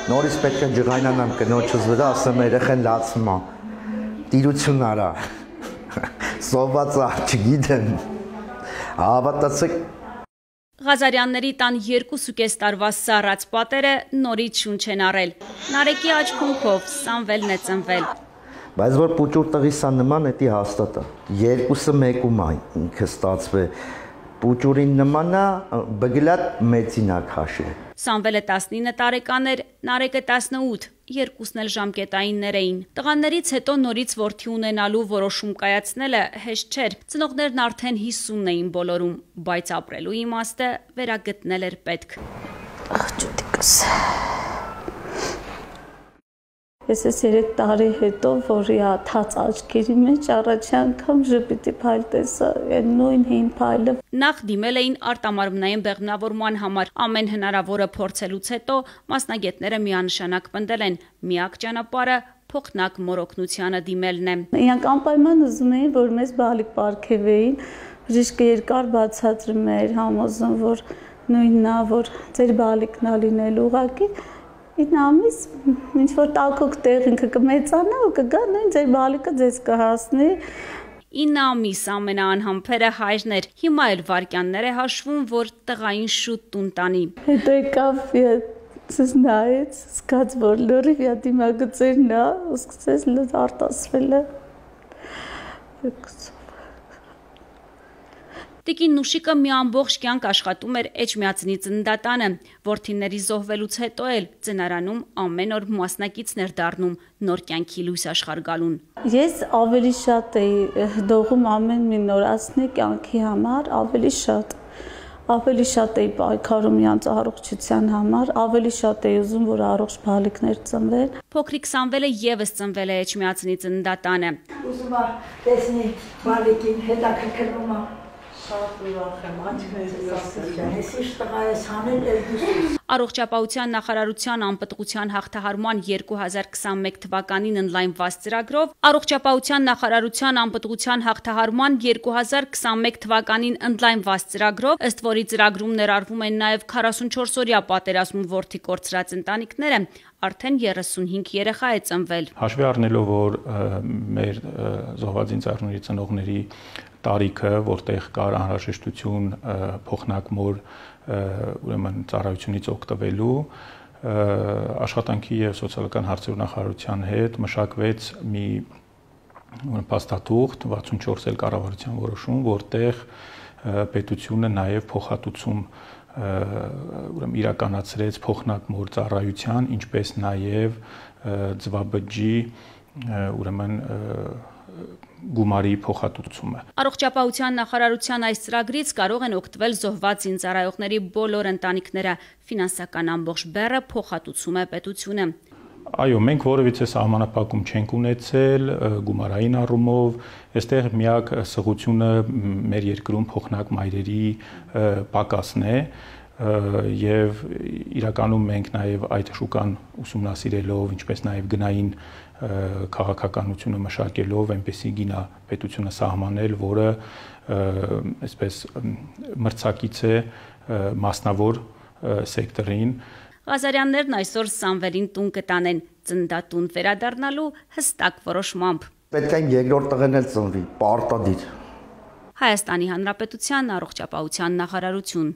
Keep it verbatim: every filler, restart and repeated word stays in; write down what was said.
Նորից պետք է ջղայնանամ կնոջս վրա, ասեմ երեխեն լացում է, տիրություն արա, սոված է, չգիտեմ, հավատացեք։ Ղազարյանների տան երկուսուկես տարվա սառած պատերը նորից շունչ են առել։ Նարեկի աչքունքով Սամվելն է ծնվել։ Բայց որ պուճուր տղիսա նման էտի հաստատ է, երկուսը մեկում է ինքը ստացվե, պուճուրին նման է, բգլատ մեծին է քաշել։ Սամվելը տասնինը տարեկան էր, Նարեկը տասնութ, երկուսն էլ ժամկետայիններ էին։ Տղաներից հետո նորից որդի ունենալու որոշում կայացնելը հեշտ չէր։ Ծնողներն արդեն հիսունն էին բոլորում, բայց ապրելու իմաստը վերագտնել էր պետք։ Աղջուտիկս։ Ես ես երեք տարի հետո, որի աթած աչքերի մեջ առաջի անգամ ժպիտի փայլ տեսա, նույն հին փայլը։ Նախ դիմել էին արտամարմնային բեղմնավորման համար, ամեն հնարավորը փորձելուց հետո մասնագետները միանշանակ պնդել են, միակ ճանապարհը փոխնակ մորօգնությանը դիմելն է։ Իրանք անպայման ուզում էին, որ մեզ բալիկ պարգևեին, բժիշկը երկար բացատրում էր, համոզում, որ նույնն է, որ ձեր բալիկն է լինել ուղղակի։ Ինը ամիս ինչ-որ տաքուկ տեղ ինքը կմեծանա ու կգա նույն ձեր բալիկը ձեզ կհասնի։ ինը ամիս ամենաանհամբերը հայրն էր, հիմա էլ վարքյաններ է հաշվում, որ տղային շուտ տուն տանի։ Հետո եկավ ցես նայեց, սկաց որ լրիվ յա դիմագծերն է, ու սկսեց լավ արտասվելը։ Տիկին Նուշիկը մի ամբողջ կյանք աշխատում էր Էջմիածնի ծննդատանը, որդիների զոհվելուց հետո էլ ծնարանում ամեն օր մասնակիցն էր դառնում նոր կյանքի լույս աշխարհ գալուն։ Ես ավելի շատ էի դողում ամեն մի նորացնի կյանքի համար, ավելի շատ, ավելի շատ էի պայքարում իրանց առողջության համար, ավելի շատ էի ուզում, որ առողջ բալիկներ ծնվեն։ Փոքրիկ Սամվելը եւս ծնվել է Էջմիածնի ծննդատանը։ Ուզում եմ տեսնի բալիկին հետաքրքրվում է։ Առողջապահության նախարարության անպտղության հաղթահարման երկու հազար քսանմեկ թվականին ընդլայնված ծրագրով Առողջապահության նախարարության անպտղության հաղթահարման երկու հազար քսանմեկ թվականին ընդլայնված ծրագրով, ըստ որի ծրագրում ներառվում են նաև քառասունչորս օրյա պատերազմում որդի կորցրած ընտանիքները, արդեն երեսունհինգ երեխա է ծնվել։ Հաշվի առնելով, որ մեր զոհված ինձառների ծնողների տարիքը, որտեղ կար անհրաժեշտություն փոխնակ մոր ուրեմն ծառայությունից օգտվելու, աշխատանքի եւ սոցիալական հարցերի նախարարության հետ մշակվեց մի փաստաթուղթ վաթսունչորս էլ կառավարության որոշում, որտեղ պետությունը նաեւ փոխհատուցում ուրեմն իրականացրեց փոխնակ մոր ծառայության, ինչպես նաեւ ձվաբջջի ուրեմն գումարի փոխհատուցումը։ Առողջապահության նախարարության այս ծրագրից կարող են օգտվել զոհված զինծառայողների բոլոր ընտանիքները, ֆինանսական ամբողջ բեռը փոխհատուցում է պետությունը։ Այո, մենք որևիցե սահմանափակում չենք ունեցել գումարային առումով, այստեղ միակ սղությունը մեր երկրում փոխնակ մայրերի պակասն է, եւ իրականում մենք նաեւ այդ շուկան ուսումնասիրելով, ինչպես նաեւ գնային քաղաքականությունը մշակելով, այնպեսի գինա պետությունը սահմանել, որը այսպես մրցակից է մասնավոր սեկտորին։ Ղազարյաններն այսօր Սամվելին տուն կտանեն, ծննդատուն վերադառնալու հստակ որոշմամբ։ Պետք է երկրորդ տղեն էլ ծնվի, պարտադիր։ Հայաստանի Հանրապետության առողջապահության նախարարություն։